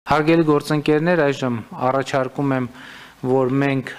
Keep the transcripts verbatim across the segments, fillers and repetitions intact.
Հարգելի գործընկերներ, այժմ առաջարկում եմ, որ մենք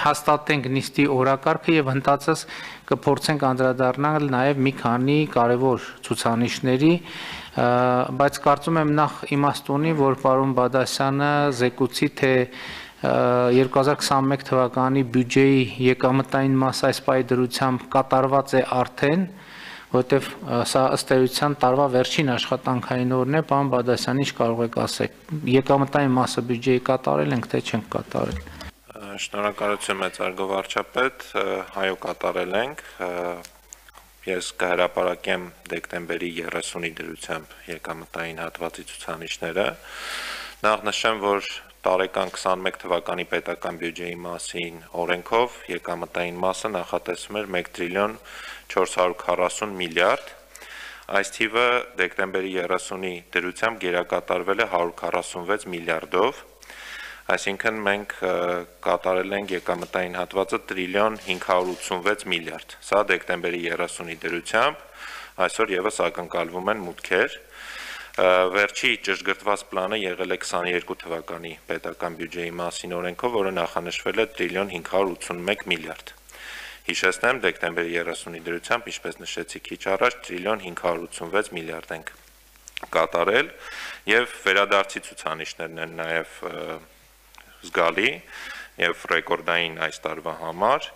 հաստատենք նիստի օրակարգը եւ հնդածս կփորձենք անդրադառնալ նաեւ մի քանի կարևոր ցուցանիշների, բայց կարծում եմ նախ իմաստ ունի, որ պարոն Բադասյանը զեկուցի, թե երկու հազար քսաներկու թվականի բյուջեի եկամտային մասը այս պայդրությամբ կատարված է արդեն, որտեվ սա ըստ էության տարվա վերջին աշխատանքային օրն է, պարոն Բադասյան, ինչ կարող եք ասել, եկամտային մասը բյուջեի կատարել ենք, թե չենք կատարել։ Շնորհակալություն մեծարգո վարչապետ, այո կատարել ենք, ես կհրապարակեմ դեկտեմբերի երեսունի դրությամբ եկամտային հատվածի ցուցանիշները, նախ նշեմ, որ տարեկան քսաներկու թվականի պետական բյուջեի մասին օրենքով եկամտային մասը նախատեսվում էր մեկ տրիլիոն չորս հարյուր քառասուն միլիարդ, այս թիվը դեկտեմբերի երեսունի դրությամբ գերակատարվել է հարյուր քառասունվեց միլիարդով, այսինքն մենք կատարել ենք եկամտային հատվածը տրիլիոն հինգ հարյուր ութսունվեց միլիարդ, սա դեկտեմբերի երեսունի դրությամբ, այսօր եւս ակնկալվում են մուտքեր, վերջի ճշգրտված պլանը եղել է քսաներկու թվականի պետական բյուջեի մասին օրենքով, որը նախանշվել է տրիլիոն հինգ հարյուր ութսունմեկ միլիարդ, հիշեցնեմ դեկտեմբերի երեսունի դրությամբ, ինչպես նշեցի քիչ առաջ, տրիլիոն հինգ հարյուր ութսունվեց միլիարդ ենք կատարել եւ վերադարձի ցուցանիշներն են նաեւ զգալի եւ ռեկորդային այս տարվա համար,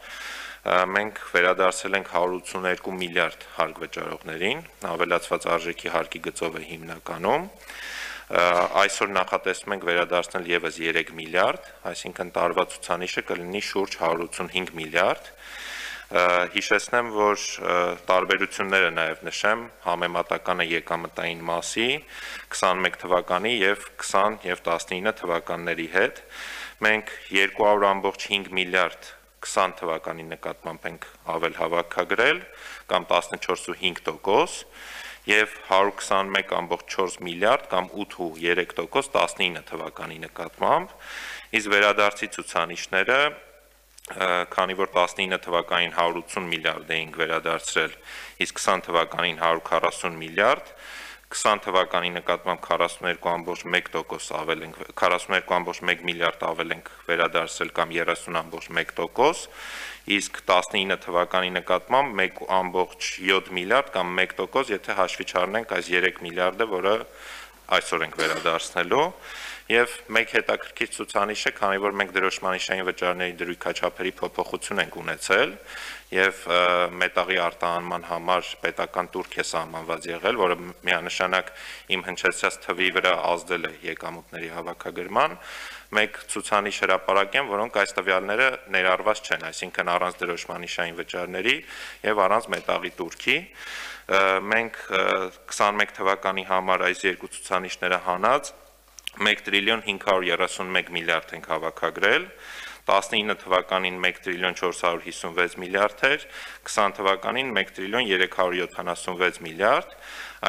մենք վերադարձել ենք հարյուր ութսուներկու միլիարդ հարկ վճարողներին, ավելացված արժեքի հարկի գծով է հիմնականում, այսօր նախատեսում ենք վերադարձնել եւս երեք միլիարդ, այսինքն տարվա ցուցանիշը կլինի շուրջ հարյուր ութսունհինգ միլիարդ, հիշեցնեմ, որ տարբերությունները նաև նշեմ համեմատականը եկամտային մասի քսաներկու թվականի եւ քսան եւ տասնինը թվականների հետ, մենք երկու հարյուր ամբողջ հինգ միլիարդ քսան թվականի նկատմամբ ենք ավել հավաքագրել կամ տասնչորս ու հինգ տոկոս եւ հարյուր քսանմեկ ամբողջ չորս միլիարդ կամ ութ ու երեք տոկոս տասնինը թվականի նկատմամբ, իսկ վերադարձի ցուցանիշները քանի որ տասնինը թվականին հարյուր ութսուն միլիարդ էինք վերադարձրել, իսկ քսան թվականին հարյուր քառասուն միլիարդ, քսան թվականի նկատմամբ քառասուններկու ամբողջ մեկ տոկոս ավել ենք, քառասուններկու ամբողջ մեկ միլիարդ ավել ենք վերադարձրել կամ երեսուն ամբողջ մեկ տոկոս, իսկ տասնինը թվականի նկատմամբ մեկ ամբողջ յոթ միլիարդ կամ մեկ տոկոս, եթե հաշվի չառնենք այս երեք միլիարդը, որը այսօր ենք վերադարձնելու, եւ մեկ հետաքրքիր ցուցանիշ է, քանի որ մենք դրոշմանիշային վճարների դրույքաչափերի փոփոխություն ենք ունեցել եւ մետաղի արտահանման համար պետական տուրք է սահմանված եղել, որը միանշանակ իմ հնչեցրած թվի վրա ազդել է եկամուտների հավաքագրման, մեկ ցուցանիշ հրապարակեմ, որոնք այս տվյալները ներառված չեն, այսինքն առանց դրոշմանիշային վճարների եւ առանց մետաղի տուրքի, մենք քսաներկու թվականի համար այս երկու ցուցանիշները հանած մեկ տրիլիոն հինգ հարյուր երեսունմեկ միլիարդ ենք հավաքագրել, տասնինը թվականին մեկ տրիլիոն չորս հարյուր հիսունվեց միլիարդ էր, քսան թվականին մեկ տրիլիոն երեք հարյուր յոթանասունվեց միլիարդ,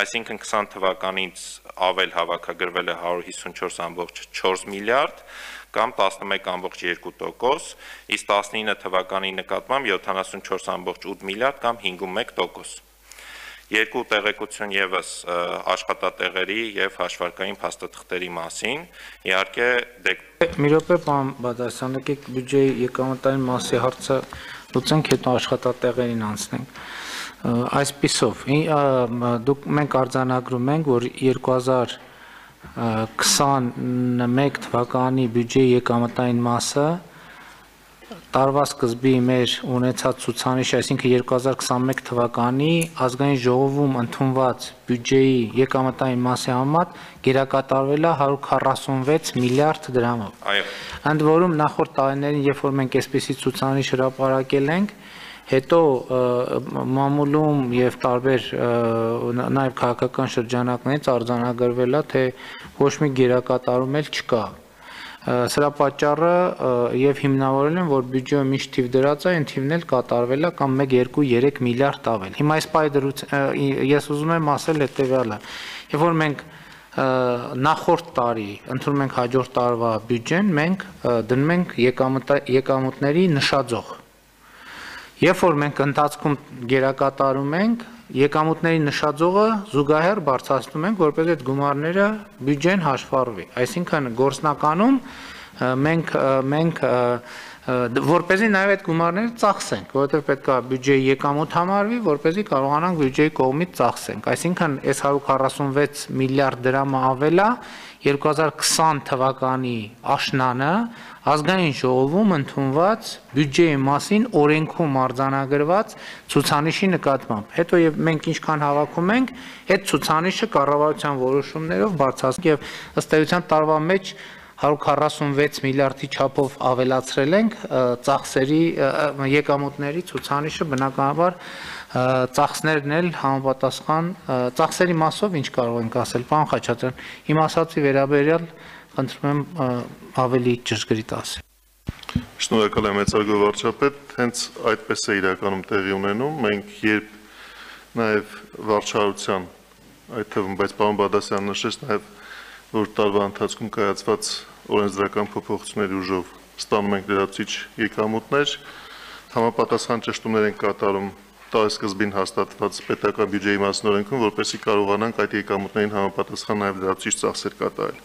այսինքն քսան թվականից ավել հավաքագրվել է հարյուր հիսունչորս ամբողջ չորս միլիարդ կամ տասնմեկ ամբողջ երկու տոկոս, իսկ տասնինը թվականի նկատմամբ յոթանասունչորս ամբողջ ութ միլիարդ կամ հինգումեկ տոկոս։ Երկու տեղեկություն եւս աշխատատեղերի եւ հաշվարկային փաստաթղթերի մասին, իհարկե մի րոպե, պարոն Բադասյան, եկեք բյուջեի եկամտային մասի հարցը լուծենք, հետո աշխատատեղերին անցնենք։ Այսպիսով, դուք մենք արձանագրում ենք, որ երկու հազար քսաներկու թվականի բյուջեի եկամտային մասը տարվա սկզբի մեր ունեցած ցուցանիշ, այսինքն երկու հազար քսաներկու թվականի ազգային ժողովում ընդունված բյուջեի եկամտային մասի համեմատ գերակատարվել է հարյուր քառասունվեց միլիարդ դրամով։ Այո։ Ընդ որում նախորդ տարիներին, երբ որ մենք այսպիսի ցուցանիշ հրապարակել ենք, հետո մամուլում եւ տարբեր նաեւ քաղաքական շրջանակներից արձանագրվել է, թե ոչ մի գերակատարում էլ չկա։ Սրա պատճառը եւ հիմնավորել են, որ բյուջեում ինչ թիվ դրած է, այն թիվն էլ կատարվել է կամ մեկ, երկու, երեք միլիարդ ավել։ Հիմա այս պայդրությամբ ես ուզում եմ ասել հետեւյալը, երբ որ մենք նախորդ տարի ընդունում ենք հաջորդ տարվա բյուջեն, մենք դնում ենք եկամուտների նշաձող։ Երբ որ մենք ընթացքում գերակատարում ենք, եկամուտների նշաձողը զուգահեռ բարձրացնում ենք, որպես այդ գումարները բյուջեն հաշվառվի։ Այսինքն գործնականում մենք մենք որպեսզի նաև այդ գումարները ծախսենք, որովհետև պետք է բյուջեի եկամուտ համարվի, որպեսզի կարողանանք բյուջեի կողմից ծախսենք։ Այսինքն այս հարյուր քառասունվեց միլիարդ դրամը ավելա երկու հազար քսան թվականի աշնանը ազգային ժողովում ընդունված բյուջեի մասին օրենքում արձանագրված ցուցանիշի նկատմամբ։ Հետո եւ մենք ինչքան հավաքում ենք, այդ ցուցանիշը կառավարության որոշումներով բարձրացնենք եւ ըստ էության տարվա մեջ հարյուր քառասունվեց միլիարդի չափով ավելացրել ենք ծախսերի եկամուտների ցուցանիշը, բնականաբար ծախսներն էլ համապատասխան ծախսերի մասով ինչ կարող ենք ասել, պարոն Խաչատրյան, իմ ասացի վերաբերյալ խնդրում եմ ավելի ճշգրիտ ասել։ Շնորհակալ եմ մեծարգո վարչապետ, հենց այդպես է իրականում տեղի ունենում, մենք երբ նաև վարչարության, այդ թվում, բայց պարոն Բադասյանը նշեց նաև, որ տարվա ընթացքում կայացված օրենսդրական փոփոխությունների ուժով ստանում ենք լրացուցիչ եկամուտներ, համապատասխան ճշտումներ են կատարում տարեսկզբին հաստատված պետական բյուջեի մասին օրենքում, որպեսզի կարողանանք այդ եկամուտներին համապատասխան նաև լրացուցիչ ծախսեր կատարել։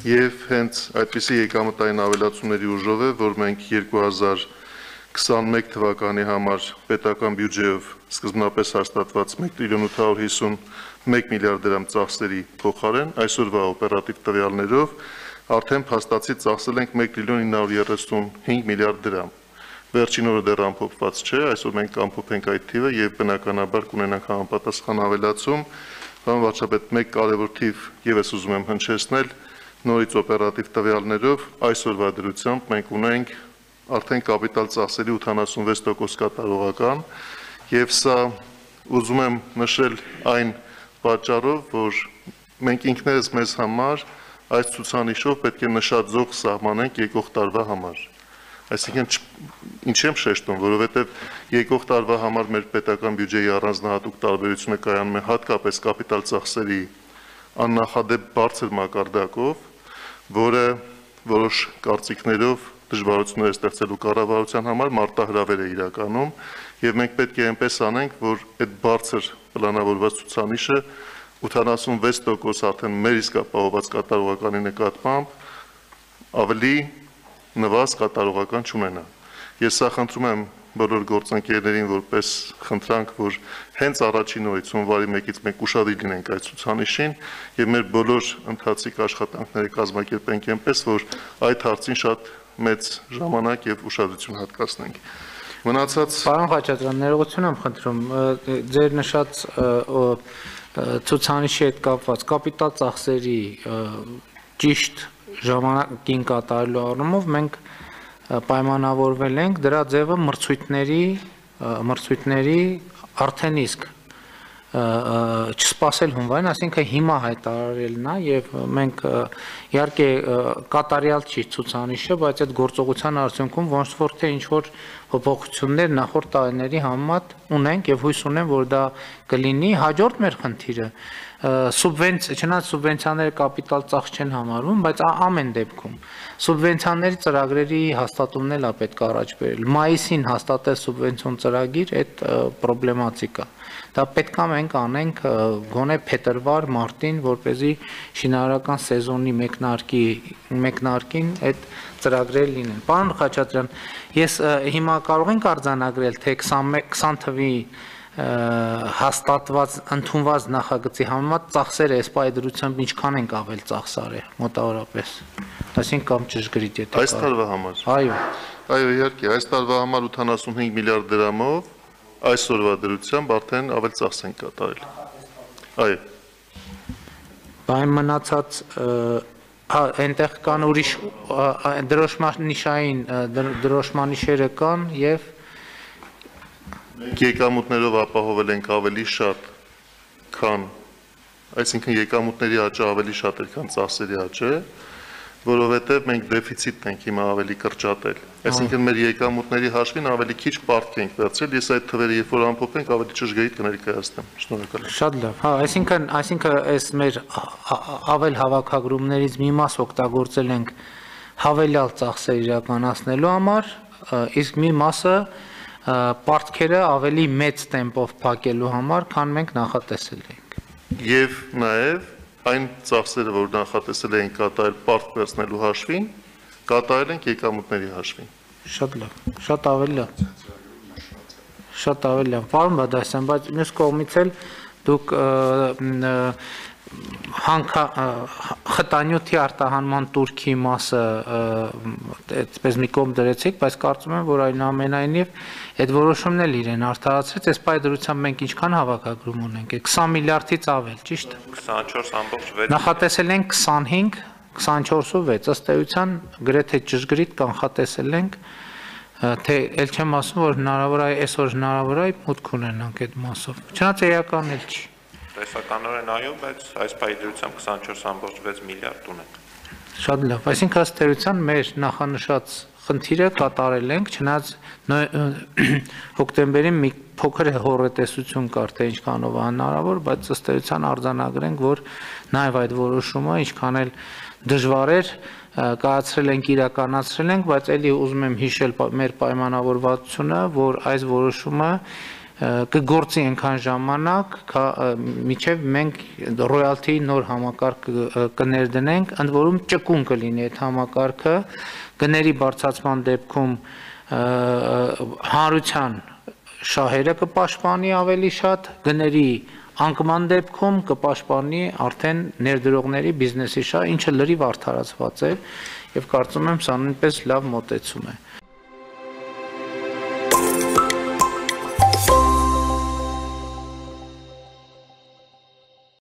Եվ հենց այդպիսի եկամտային ավելացումների ուժով է, որ մենք երկու հազար քսանմեկ թվականի համար պետական բյուջեով սկզբնապես հաստատված մեկ տրիլիոն ութ հարյուր հիսունմեկ միլիարդ դրամ ծախսերի փոխարեն այսօրվա օպերատիվ տվյալներով արդեն փաստացի ծախսել ենք մեկ տրիլիոն ինը հարյուր երեսունհինգ միլիարդ դրամ։ Վերջին օրը դեռ ամփոփված չէ, այսօր մենք կամփոփենք այդ թիվը եւ բնականաբար կունենանք համապատասխան ավելացում։ Պարոն վարչապետ, մեկ կարևոր թիվ եւս ուզում եմ հնչեցնել, նորից օպերատիվ տվյալներով այսօրվա դրությամբ մենք ունենք արդեն կապիտալ ծախսերի ութանասունվեց տոկոս կատարողական եւ սա ուզում եմ նշել այն պատճառով, որ մենք ինքներս մեզ համար այս ցուցանիշով պետք է նշաձող սահմանենք եկող տարվա համար։ Այսինքն ինչ եմ շեշտում, որովհետեւ եկող տարվա համար մեր պետական բյուջեի առանձնահատուկ տարբերությունը կայանում է հատկապես կապիտալ ծախսերի աննախադեպ բարձր մակարդակով, որը որոշ կարծիքներով դժվարություններ է ստեղծելու կառավարության համար մարտահրավեր է իրականում եւ մենք պետք է այնպես անենք, որ այդ բարձր պլանավորված ցուցանիշը ութանասունվեց տոկոս արդեն մեր իսկ ապահովված կատարողականի նկատմամբ ավելի նվազ կատարողական չունենա։ Ես սա խնդրում եմ բոլոր գործընկերներին որպես խնդրանք, որ հենց առաջին օրից հունվարի մեկից մենք ուշադիր լինենք այդ ցուցանիշին եւ մեր բոլոր ընթացիկ աշխատանքները կազմակերպենք այնպես, որ այդ հարցին շատ մեծ ժամանակ եւ ուշադրություն հատկացնենք։ Մնացած Պարոն Խաչատրյան, ներողություն եմ խնդրում, ձեր նշած ցուցանիշի հետ կապված կապիտալ ծախսերի ճիշտ ժամանակին կատարելու առումով մենք պայմանավորվել ենք դրա ձևը մրցույթների մրցույթների արդեն իսկ չսպասել հունվարին, այսինքն հիմա հայտարարելն է եւ մենք իհարկե կատարյալ չի ցուցանիշը, բայց այդ գործողության արդյունքում ոնց որ թե ինչ որ փոփոխություններ նախորդ տարիների համեմատ ունենք եւ հույս ունեմ, որ դա կլինի։ Հաջորդ մեր խնդիրը սուբվենցիա, չնայած սուբվենցիաները կապիտալ ծախս չեն համարվում, բայց ամեն դեպքում սուբվենցիաների ծրագրերի հաստատումն էլ է պետք է առաջ բերել։ Մայիսին հաստատել սուբվենցիոն ծրագիր, այդ պրոբլեմատիկ է։ Դա պետք է մենք անենք գոնե փետրվար, մարտին, որպեսզի շինարարական սեզոնի մեկնարկի մեկնարկին այդ ծրագրերը լինեն։ Պարոն Խաչատրյան, ես հիմա կարող ենք արձանագրել, թե քսան թվի հաստատված ընդունված նախագծի համեմատ ծախսերը այս պայդրությամբ ինչքան ենք ավել ծախսարել մոտավորապես։ Այսինքն կամ ճշգրիտ եթե այս տարվա համար։ Այո։ Այո, իհարկե, այս տարվա համար ութանասունհինգ միլիարդ դրամով այսօրվա դրությամբ արդեն ավել ծախս ենք կատարել։ Այո։ Բայց մնացած հա այնտեղ կան ուրիշ դրոշմանիշային դրոշմանիշերը կան եւ եկամուտներով ապահովել ենք ավելի շատ, քան, այսինքն եկամուտների աճը ավելի շատ էր, քան ծախսերի աճը, որովհետև մենք դեֆիցիտ ենք հիմա ավելի կրճատել։ Այսինքն մեր եկամուտների հաշվին ավելի քիչ պարտք ենք վերցրել, ես այդ թվերը երբ որ ամփոփենք ավելի ճշգրիտ կներկայացնեմ։ Շնորհակալ եմ։ Շատ լավ։ Հա, այսինքն, այսինքն այս մեր ավել հավաքագրումներից մի մաս օգտագործել ենք հավելյալ ծախսեր իրականացնելու համար, իսկ մի մասը պարտքերը ավելի մեծ տեմպով փակելու համար, քան մենք նախատեսել էինք։ Եվ նաև այն ծախսերը, որ նախատեսել էին կատարել պարտք վերցնելու հաշվին, կատարել ենք եկամուտների հաշվին։ Շատ լավ, շատ ավելի լավ։ Շատ ավելի լավ։ Պարոն Բադասյան, բայց մյուս կողմից էլ դուք խտանյութի արտահանման турքի մասը այդպես մի կողմ դրեցիք, բայց կարծում եմ, որ այնուամենայնիվ այդ որոշումն էլ իրեն արդարացրեց, այս պայդրությամբ մենք ինչքան հավաքագրում ունենք, քսան միլիարդից ավել, ճիշտ է։ քսանչորս ամբողջ վեց Նախատեսել ենք քսանհինգ, քսանչորս ու վեց, ըստ էության գրեթե ճշգրիտ կանխատեսել ենք, թե ել չեմ ասում, որ հնարավոր է այսօր հնարավոր է մուտք ունենանք այդ մասով։ Չնայած էական էլ չի։ Տեսականորեն այո, բայց այս պայդրությամբ քսանչորս ամբողջ վեց միլիարդ ունենք։ Շատ լավ, այսինքն ըստ էության մեր նախանշած խնդիրը կատարել ենք, չնայած հոկտեմբերին մի փոքր հոռետեսություն կար, թե ինչքանով է հնարավոր, բայց ըստ էության արձանագրենք, որ նաև այդ որոշումը ինչքան էլ դժվար էր, կայացրել ենք, իրականացրել ենք, բայց էլի ուզում եմ հիշել մեր պայմանավորվածությունը, որ այս որոշումը կգործի այնքան ժամանակ, մինչև մենք ռոյալթիի նոր համակարգ կներդնենք, ընդ որում ճկուն կլինի այդ համակարգը, գների բարձրացման դեպքում հանրության շահերը կպաշտպանի ավելի շատ, գների անկման դեպքում կպաշտպանի արդեն ներդրողների բիզնեսի շահ, ինչը լրիվ արդարացված է, եւ կարծում եմ սա նույնպես լավ մոտեցում է։